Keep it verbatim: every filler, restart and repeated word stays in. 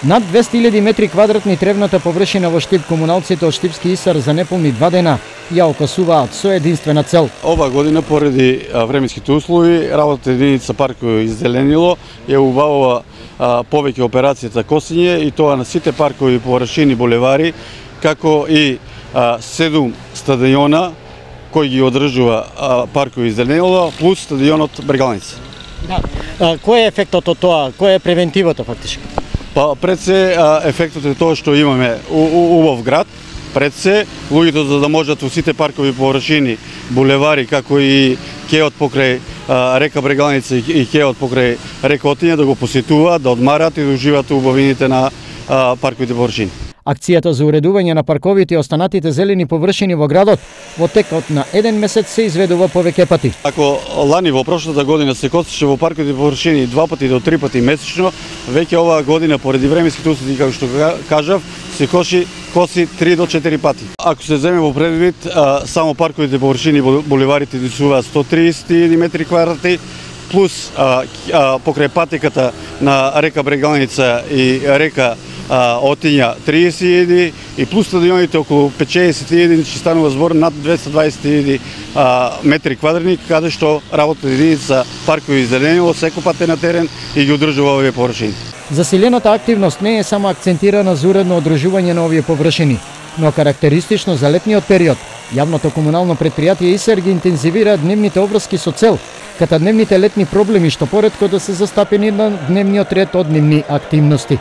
Над двесте илјади метри квадратни тревната површина во Штип комуналците од Штипски Исар за неполни два дена ја окасуваат со единствена цел. Ова година поради временските услови, работата единица паркови иззеленило ја убавува повеќе операцијата косење и тоа на сите паркови површини булевари, како и седум стадиона кој ги одржува паркови иззеленило плюс стадионот Брегалница. Да. Кој е ефектот од тоа? Која е превентивата фактички? Па пред се ефектот е тоа што имаме убав град, пред се луѓето за да можат во сите паркови површини, булевари како и кеот покрај река Брегалница и кеот покрај река Отиња да го посетуваат, да одмарат и да уживаат убавините на парковите површини. Акцијата за уредување на парковите и останатите зелени површини во градот во текот на еден месец се изведува повеќе пати. Ако лани во прошлата година се косеше во парковите површини два пати до три пати месечно, веќе оваа година поради временските услови како што кажав, се коси коси три до четири пати. Ако се земе во предвид, само парковите површини булеварите дисуваат сто триесет илјади метри квадратни, плюс а, а, покрај патеката на река Брегалница и река а, Отиња триесет илјади и плюс стадионите околу петчесет илјади, значи станува збор над двесте дваесет илјади метри квадратни, каде што работата единица паркови иззеленило секој пат е на терен и ги одржува овие површини. Заселената активност не е само акцентирана за уредно одржување на овие површини, но карактеристично за летниот период. Јавното комунално предпријатие Исар ги интензивира дневните обврски со цел, ката дневните летни проблеми што поретко да се застапени на дневниот ред од нивни активности.